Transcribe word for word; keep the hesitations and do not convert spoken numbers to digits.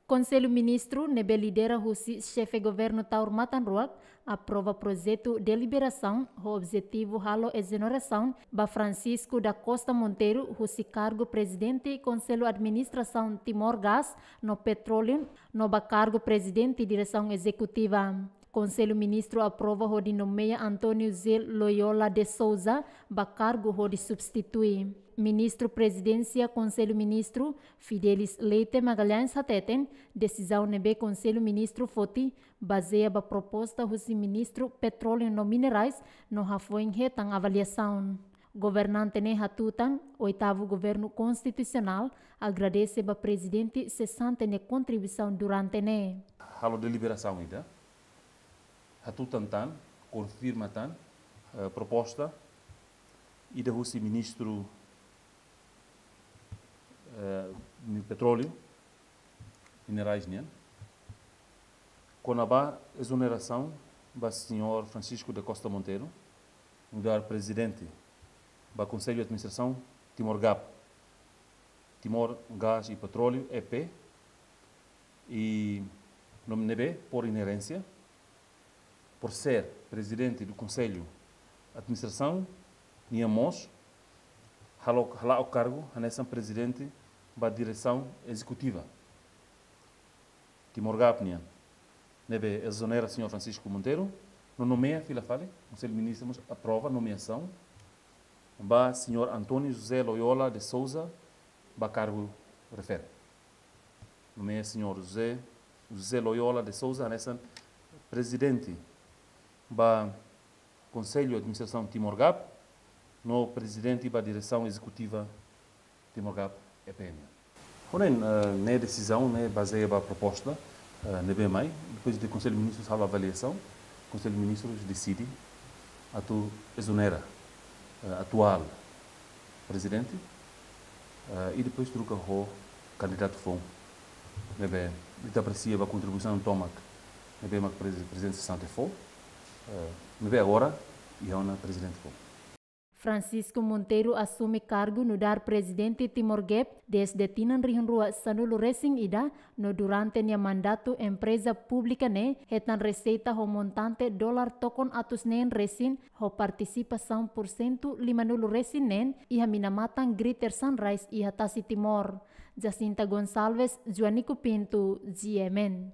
Konsellu Ministru ne'ebé lidera husi Xefe Governu Taur Matan Ruak aprova projetu deliberasaun ho objetivu halo ezonerasaun ba Francisco da Costa Monteiro husi kargu Prezidente Konsellu Administrasaun Timor Gás no Petróleu no ba kargu Prezidente Diresaun Ezekutiva. Konsellu Ministru aprova hodi nomeia António José Loyola de Sousa ba kargu hodi substitui. Ministru Prezidénsia Konsellu Ministru, Fidelis Leite Magalhães hateten, desizaun ne'ebé Konsellu Ministru foti bazeia ba proposta husi Ministru Petróleu no Minerais no hafoin hetan avaliasaun. Governante ne'e hatutan, oitavu governu konstitusionál agradese ba prezidente sesante nia kontribuisaun durante ne'e. Halo deliberasaun ida, hatutan tan, konfirma tan, eh, proposta ida husi Ministru, eh, mi-, Petróleu, Minerais nian, kona-ba ezonerasaun ba señór Francisco da Costa Monteiro, nu'udar prezidente ba Konsellu Administrasaun Timor Gap, Timor Gás e Petróleo, E P, i no ne'ebé, por inerência, por ser prezidente do Konsellu Administrasaun, nia mós hala'o, hala'o kargu hanesan prezidente ba Diresaun Ezekutiva Timor Gap nian, ne'ebé ezonera señór Francisco Monteiro, no nomeia fila fali, Konsellu Ministru mós aprova nomeasaun ba señór António José Loyola de Sousa ba kargu refere. Nomeia señór José, José Loyola de Sousa hanesan prezidente ba Konsellu Administrasaun Timor Gap, no prezidente ba Diresaun Ezekutiva Timor Gap, E P M. Ho ne'e, eh, ne'e desizaun ne'e bazeia ba proposta, eh, ne'ebé mai, depois de Konsellu Ministrus halo avaliasaun, Konsellu Ministrus deside atu ezonera, eh, atuál prezidente, eh, i depois troka ho kandidatu foun. Ne'ebé, ita apresia ba kontribuisaun tomak ne'ebé mak prezi-, prezidente sesante fó, eh, ne'ebé agora iha ona prezidente foun. Francisco Monteiro asume kargu nu'udar prezidente Timor Gap dezde tinan rihun rua sanulu resin ida, no durante nia mandatu empreza públika ne'e hetan reseita ho montante dolar tokon atus neen resin, ho partisipasaun pursentu limanulu resin neen iha mina-matan Greater Sunrise iha tasi Timor. Jacinta Gonçalves, Joanico Pinto, G M N.